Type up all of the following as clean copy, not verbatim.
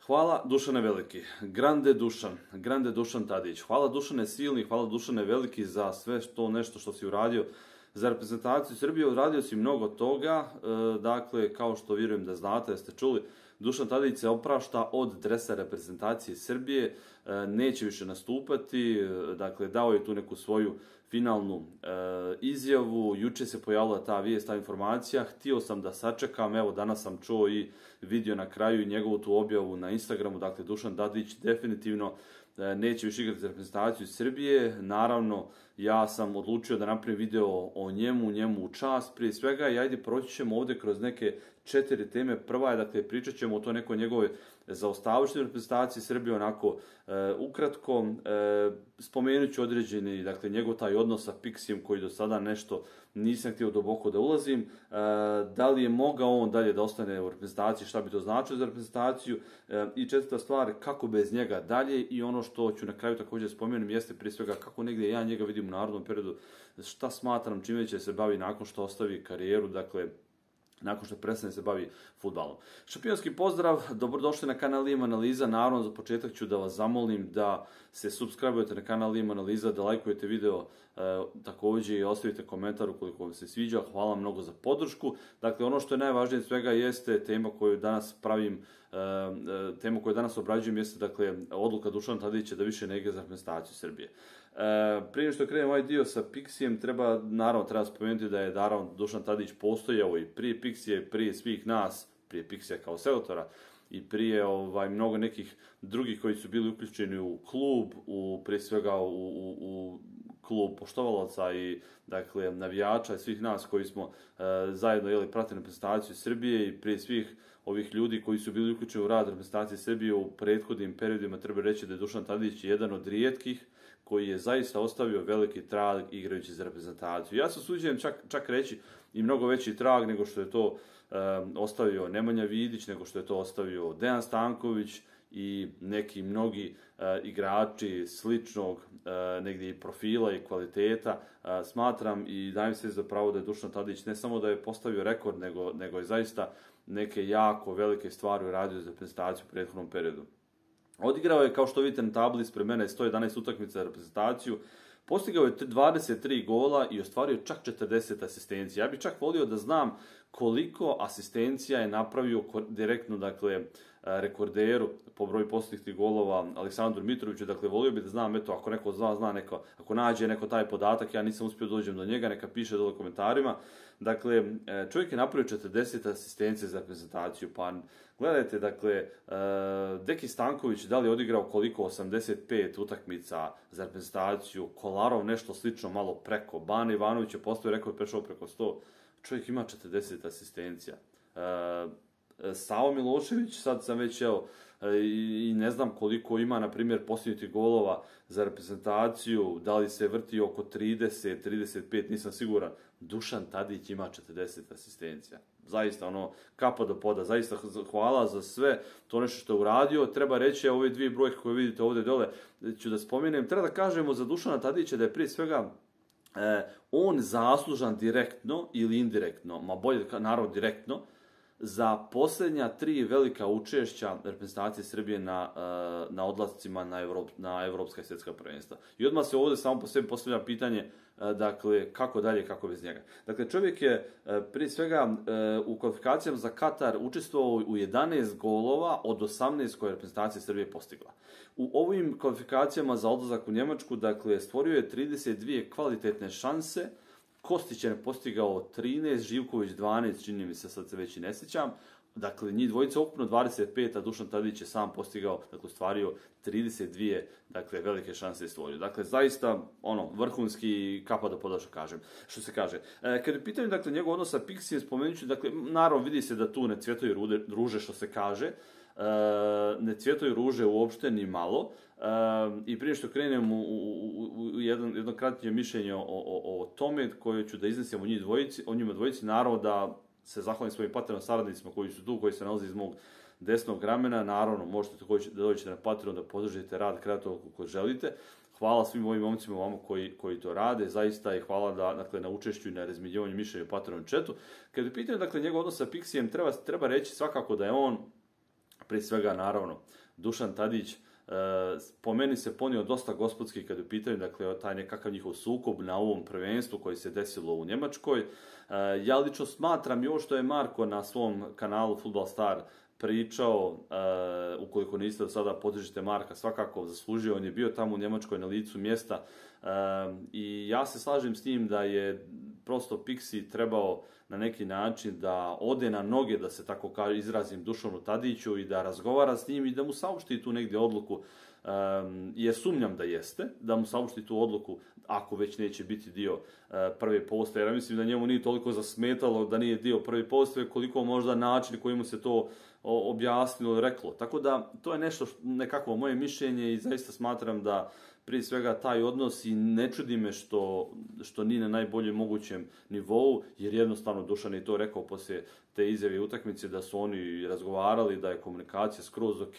Hvala Dušane Veliki, grande Dušan Tadić. Hvala Dušane Silni, hvala Dušane Veliki za sve nešto što si uradio za reprezentaciju Srbije. Uradio si mnogo toga, dakle, kao što vjerujem da znate, da ste čuli, Dušan Tadić se oprašta od dresa reprezentacije Srbije, neće više nastupati, dakle, dao je tu neku svoju finalnu izjavu, juče se pojavila ta vijest, ta informacija, htio sam da sačekam, evo danas sam čuo i vidio na kraju njegovu tu objavu na Instagramu, dakle Dušan Tadić definitivno neće više igrati za reprezentaciju Srbije. Naravno, ja sam odlučio da napravim video o njemu u čast prije svega i ajde proći ćemo ovdje kroz neke 4 teme. Prva je, dakle, pričat ćemo o to nekoj njegove zaostavućoj reprezentaciji Srbije, onako ukratko. Spomenut ću određeni, dakle, njegov taj odnos sa Pixijem koji do sada nešto nisam htio duboko da ulazim. Da li je mogao on dalje da ostane u reprezentaciji, šta bi to značilo za reprezentaciju. I četvrta stvar, kako bez njega dalje, i ono što ću na kraju također spomenuti jeste prije svega kako negdje ja njega vidim u narodnom periodu, šta smatram čime će se bavi nakon što ostavi karijeru, dakle, nakon što prestane se bavi fudbalom. Šampionski pozdrav, dobrodošli na kanal IM Analiza. Naravno, za početak ću da vas zamolim da se subscribe-ujete na kanal IM Analiza, da lajkujete video također i ostavite komentar ukoliko vam se sviđa. Hvala mnogo za podršku. Dakle, ono što je najvažnije od svega jeste tema koju danas pravim, tema koju danas obrađujem jeste, dakle, odluka Dušana Tadića da više ne igra za reprezentaciju Srbije. Prije što krenem ovaj dio sa Pixijem, treba spomenuti da je naravno Dušan Tadić postojao i prije Pixije, prije svih nas, prije Pixija kao selektora i prije mnogo nekih drugih koji su bili uključeni u klub, prije svega u klub poštovalaca i, dakle, navijača i svih nas koji smo zajedno pratili reprezentaciju Srbije, i prije svih ovih ljudi koji su bili uključeni u rad reprezentacije Srbije u prethodnim periodima. Treba reći da je Dušan Tadić jedan od rijetkih koji je zaista ostavio veliki trag igrajući za reprezentaciju. Ja se usuđujem čak reći i mnogo veći trag nego što je to ostavio Nemanja Vidić, nego što je to ostavio Dejan Stanković i neki mnogi igrači sličnog negdje i profila i kvaliteta. Smatram i dajem se za pravo da je Dušan Tadić ne samo da je postavio rekord, nego je zaista neke jako velike stvari uradio za reprezentaciju u prethodnom periodu. Odigrao je, kao što vidite na tabli ispred mene, 111 utakmica za reprezentaciju, postigao je 23 gola i ostvario čak 40 asistencija. Ja bih čak volio da znam koliko asistencija je napravio direktno, dakle, rekorderu po broju postignutih golova Aleksandru Mitroviću. Dakle, volio bih da znam, eto, ako neko zna, ako nađe neko taj podatak, ja nisam uspio dođem do njega, neka piše dole u komentarima. Dakle, čovjek je napravio 40 asistencija za reprezentaciju, pa gledajte, dakle, Deki Stanković da li je odigrao koliko, 85 utakmica za reprezentaciju, Kolarov nešto slično malo preko, Bane Ivanović je postavio rekord, prešao preko 100, čovjek ima 40 asistencija. Savo Milošević, sad sam već, i ne znam koliko ima, na primjer, postignutih golova za reprezentaciju, da li se vrti oko 30, 35, nisam siguran. Dušan Tadić ima 40 asistencija. Zaista, kapa do poda, zaista hvala za sve to nešto što je uradio. Treba reći, ove dvije brojke koje vidite ovdje dole, ću da spomenem, treba da kažemo za Dušana Tadića da je prije svega on zaslužan direktno ili indirektno, ma bolje naravno direktno, za posljednja 3 velika učešća reprezentacije Srbije na odlascima na evropska i svjetska prvenstva. I odmah se ovdje samo po sebi postavlja pitanje, dakle, kako dalje, kako bez njega. Dakle, čovjek je prije svega u kvalifikacijama za Katar učestvovao u 11 golova od 18 koje je reprezentacija Srbije postigla. U ovim kvalifikacijama za odlazak u Njemačku, dakle, stvorio je 32 kvalitetne šanse. Kostić je postigao 13, Živković 12, čini mi se, sad se već i ne sjećam. Dakle, njih dvojica ukupno 25, a Dušan Tadić je sam postigao, dakle, stvario 32, dakle, velike šanse je stvorio. Dakle, zaista, vrhunski kapa do poda, što se kaže. Kad je pitanje, dakle, njegov odnos sa Pixijem, spomenut ću, dakle, naravno vidi se da tu ne cvjetaju ruže, što se kaže. Ne cvjetaju ruže uopšte ni malo. I prije što krenem u jedno kratke mišljenje o tome koje ću da iznesem o njima dvojici, naravno da se zahvalim svojim Patreon saradnicima koji su tu, koji se nalaze iz mog desnog ramena. Naravno, možete također da dođete na Patreon da podržite rad kreatora kako želite. Hvala svim ovim momcima vama koji to rade, zaista, i hvala na učešću i na razmjenjivanju mišljenja u Patreon chatu. Kad je pitanje, dakle, njegov odnos sa Pixijem, treba reći svakako da je on Prije svega, naravno, Dušan Tadić po meni se ponio dosta gospodski kad je u pitanju, dakle, taj nekakav njihov sukob na ovom prvenstvu koji se desilo u Njemačkoj. Ja lično smatram i ovo što je Marko na svom kanalu Football Star pričao, ukoliko niste do sada podržite Marka, svakako zaslužio, on je bio tamo u Njemačkoj na licu mjesta i ja se slažem s njim da je prosto Pixi trebao na neki način da ode na noge, da se tako izrazim, Dušanu Tadiću i da razgovara s njim i da mu saopšti tu negdje odluku, jer sumnjam da jeste, da mu saopšti tu odluku ako već neće biti dio prve postave, jer ja mislim da njemu nije toliko zasmetalo da nije dio prve postave, koliko možda način koji mu se to objasnilo, reklo. Tako da to je nešto nekakvo moje mišljenje i zaista smatram da prije svega taj odnos i ne čudi me što nije na najboljem mogućem nivou, jer jednostavno Dušan je to rekao poslije te izjave utakmice da su oni razgovarali, da je komunikacija skroz ok,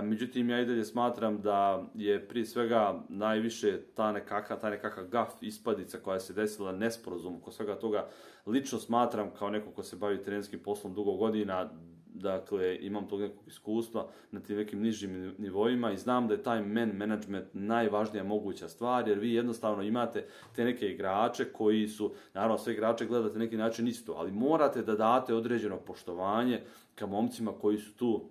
međutim ja i dalje smatram da je prije svega najviše ta nekakav gaf, ispadica koja se desila, nesporazum oko svega toga. Lično smatram kao neko ko se bavi trenerskim poslom dugo godina, dakle, imam tog nekog iskustva na tim nekim nižim nivoima i znam da je taj management najvažnija moguća stvar, jer vi jednostavno imate te neke igrače koji su, naravno sve igrače gledate na neki način isto, ali morate da date određeno poštovanje ka momcima koji su tu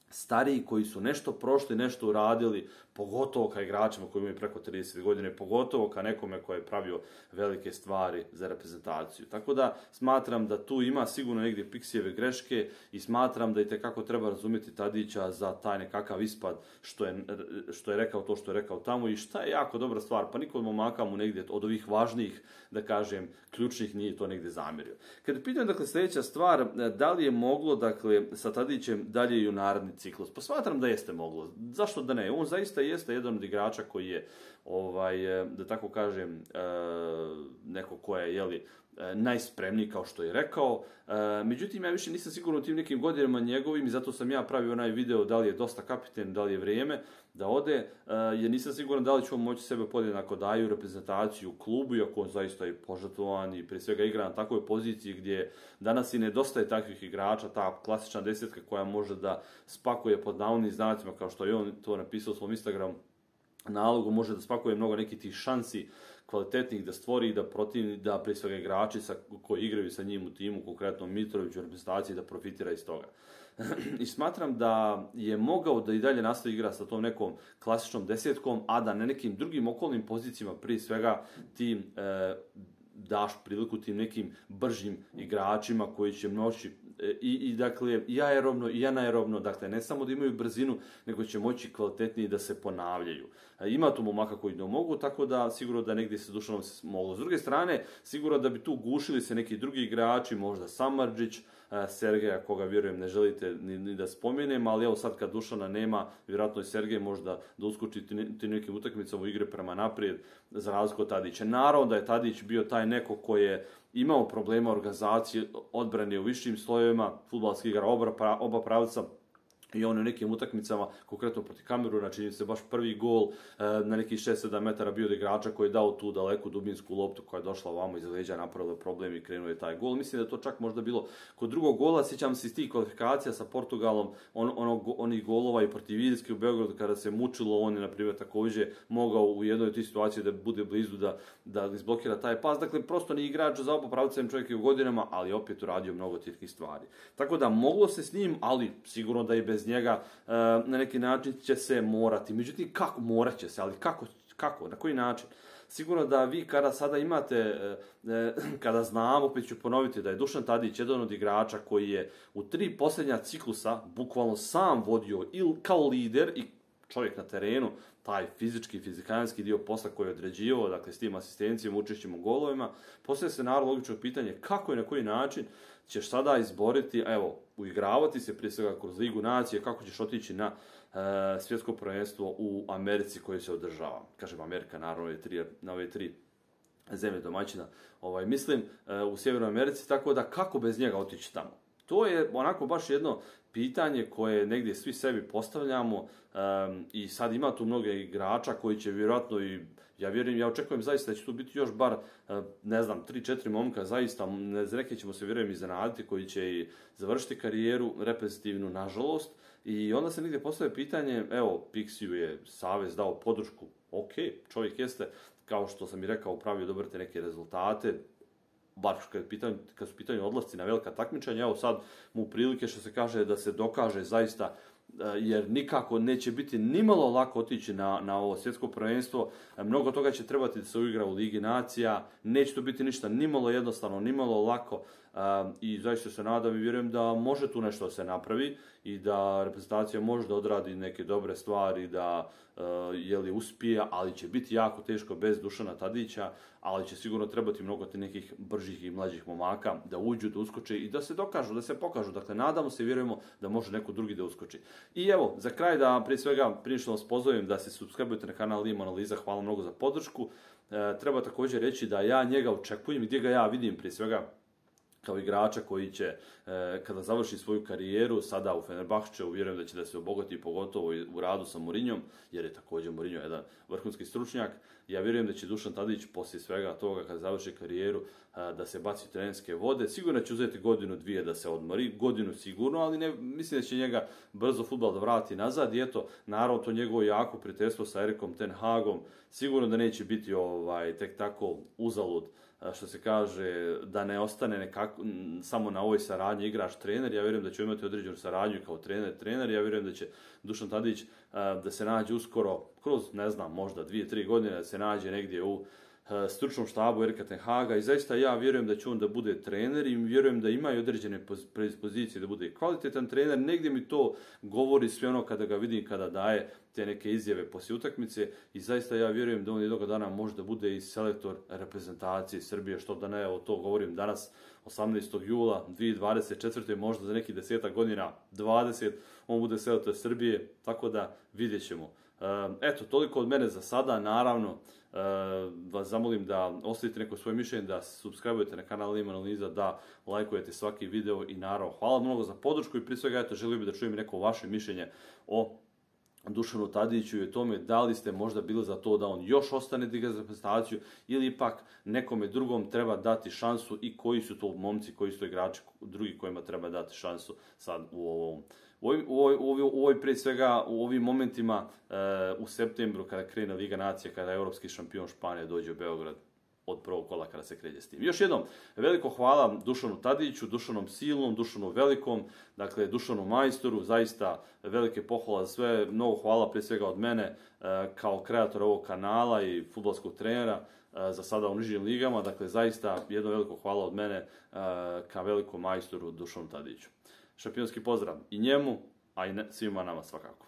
stariji, koji su nešto prošli, nešto uradili, pogotovo ka igračima koji imaju preko 30 godine, pogotovo ka nekome koji je pravio velike stvari za reprezentaciju. Tako da smatram da tu ima sigurno negdje Pixijeve greške i smatram da i tekako treba razumjeti Tadića za taj nekakav ispad što je rekao to što je rekao tamo i šta je jako dobra stvar, pa niko od momaka mu negdje od ovih važnijih, da kažem, ključnih nije to negdje zamjerio. Kad pitam, dakle, sljedeća stvar, da li je moglo, dakle, sa Tadićem dalje i u naredni ciklus? Pa smatram da jeste moglo. Zašto da ne? On zaista jeste jedan od igrača koji je, da tako kažem, neko ko je, jeli, najspremniji, kao što je rekao. Međutim, ja više nisam siguran u tim nekim godinama njegovim i zato sam ja pravio onaj video da li je dosta kapiten, da li je vrijeme da ode, jer nisam siguran da li ćemo moći sebe podjednako daju reprezentaciju u klubu, iako on zaista je požrtvovan i prije svega igra na takvoj poziciji gdje danas i nedostaje takvih igrača, ta klasična desetka koja može da spakuje pod navodnim znacima, kao što je on to napisao u svom Instagram nalogu, može da spakuje mnogo nekih tih šansi kvalitetnih da stvori i da prije svega igrači koji igraju sa njim u timu, konkretno Mitrović u reprezentaciji, da profitira iz toga. I smatram da je mogao da i dalje nastavi igra sa tom nekom klasičnom desetkom, a da na nekim drugim okolnim pozicijama prije svega tim daš priliku tim nekim bržim igračima koji će moći dakle, i aerobno i anaerobno, dakle, ne samo da imaju brzinu, nego će moći kvalitetniji da se ponavljaju. Ima tu momaka koji ne mogu, tako da sigurno da negdje se Dušanom se moglo. S druge strane, sigurno da bi tu gušili se neki drugi igrači, možda Samardžić, Sergeja, koga vjerujem ne želite ni da spomenem, ali evo sad kad Dušana nema, vjerojatno i Sergej možda da uskoči tim nekim utakmicama u igre prema naprijed, za razliku od Tadića. Naravno da je Tadić bio taj neko koji je imao problema organizacije odbrane u višim slojevima, fudbalski igra oba pravca, i on u nekim utakmicama, konkretno protiv Kameruna, čini se baš prvi gol na nekih 6-7 metara bio od igrača koji je dao tu daleku dubinsku loptu koja je došla ovamo iz leđa, napravila problem i krenuo je taj gol. Mislim da je to čak možda bilo kod drugog gola, sjećam se iz tih kvalifikacija sa Portugalom, onih golova i protiv Irske u Beogradu kada se mučilo, on je, na primjer, također mogao u jednoj od tih situacija da bude blizu da izblokira taj pas. Dakle, prosto ni igrač za oba pravca, čovjek je u godinama, ali opet uradio mnogo tih stvari. Tako da moglo se s njim, ali sigurno da i bez njega na neki način će se morati. Međutim, kako? Morat će se, ali kako? Na koji način? Sigurno da vi kada sada imate, kada znamo, opet ću ponoviti da je Dušan Tadić jedan od igrača koji je u 3 posljednja ciklusa bukvalno sam vodio ili kao lider i čovjek na terenu, taj fizikanski dio posla koji je određivao, dakle s tim asistencijom, učešćem u golovima, poslije se naravno logično pitanje kako i na koji način ćeš sada izboriti, evo, uigravati se prije svega kroz Ligu nacije, kako ćeš otići na svjetsko prvenstvo u Americi koje se održava. Kažem Amerika, naravno, na ove 3 zemlje domaćina, mislim, u Sjevernoj Americi, tako da kako bez njega otići tamo? To je onako baš jedno pitanje koje negdje svi sebi postavljamo i sad ima tu mnoge igrača koji će vjerojatno i ja očekujem zaista da će tu biti još bar, 3-4 momka, zaista, neke ćemo se vjerujem iznenaditi koji će i završiti karijeru reprezentativnu, nažalost, I onda se negdje postavlja pitanje, evo, Pixiju je savez dao podršku, ok, čovjek jeste, kao što sam i rekao, upravio dobrate neke rezultate, bar kad su pitanje odlasci na velika takmičenja, evo sad mu prilike što se kaže da se dokaže zaista, jer nikako neće biti nimalo lako otići na ovo svjetsko prvenstvo, mnogo toga će trebati da se uigra u Ligi nacija, neće to biti ništa nimalo jednostavno, nimalo lako i zaista se nadam i vjerujem da može tu nešto da se napravi i da reprezentacija može da odradi neke dobre stvari, da uspije, ali će biti jako teško bez Dušana Tadića, ali će sigurno trebati mnogo nekih bržih i mlađih momaka da uđu, da uskoče i da se dokažu, da se pokažu. Dakle, nadamo se i vjerujemo da može neko drugi da uskoči. I evo, za kraj da prije svega, prije što vas pozovem da se subscribe-ujete na kanal Limo Analiza, hvala mnogo za podršku. Treba također reći da ja njega očekujem, gdje ga ja vidim prije svega kao igrača koji će, kada završi svoju karijeru, sada u Fenerbahčeu, vjerujem da će da se obogati pogotovo u radu sa Mourinhom, jer je također Mourinho jedan vrhunski stručnjak. Ja vjerujem da će Dušan Tadić poslije svega toga, kada završi karijeru, da se baci u trenerske vode. Sigurno će uzeti godinu, dvije da se odmori, godinu sigurno, ali ne, mislim da će njega brzo fudbal da vrati nazad. I eto, naravno to njegovo jako prijateljstvo sa Erikom Ten Hagom, sigurno da neće biti tek tako uzalud, što se kaže, da ne ostane samo na ovoj saradnji igrač-trener. Ja vjerujem da će imati određenu saradnju kao trener. Ja vjerujem da će Dušan Tadić da se nađe uskoro, kroz, ne znam, možda 2-3 godine, da se nađe negdje u stručnom štabu Erika Ten Haga i zaista ja vjerujem da će on da bude trener i vjerujem da ima i određene predispozicije da bude kvalitetan trener. Negdje mi to govori sve ono kada ga vidim, kada daje te neke izjave poslije utakmice i zaista ja vjerujem da on jednog dana može da bude i selektor reprezentacije Srbije, što da ne, evo to govorim danas 18. jula 2024. možda za nekih 10 godina, 20, on bude selektor Srbije, tako da vidjet ćemo. Eto, toliko od mene za sada, naravno vas zamolim da ostavite neko svoje mišljenje, da subscribe-ujete na kanal Limo Analiza, da lajkujete svaki video i naravno hvala mnogo za podršku i prije svega eto, želio bih da čujem neko vaše mišljenje o Dušanu Tadiću i o tome da li ste možda bili za to da on još ostane da igra za reprezentaciju ili ipak nekome drugom treba dati šansu i koji su to momci, koji su to igrači drugi kojima treba dati šansu sad prije svega u ovim momentima u septembru kada krene Liga nacija, kada europski šampion Španije dođe u Beograd od prvog kola kada se kreće s tim. Još jednom, veliko hvala Dušanu Tadiću, Dušanom Silnom, Dušanu Velikom, dakle Dušanu Majstoru, zaista velike pohvala za sve, mnogo hvala prije svega od mene kao kreator ovog kanala i fudbalskog trenera za sada u nižim ligama, dakle zaista jedno veliko hvala od mene ka velikom majstoru Dušanu Tadiću. Šampionski pozdrav i njemu, a i svima nama svakako.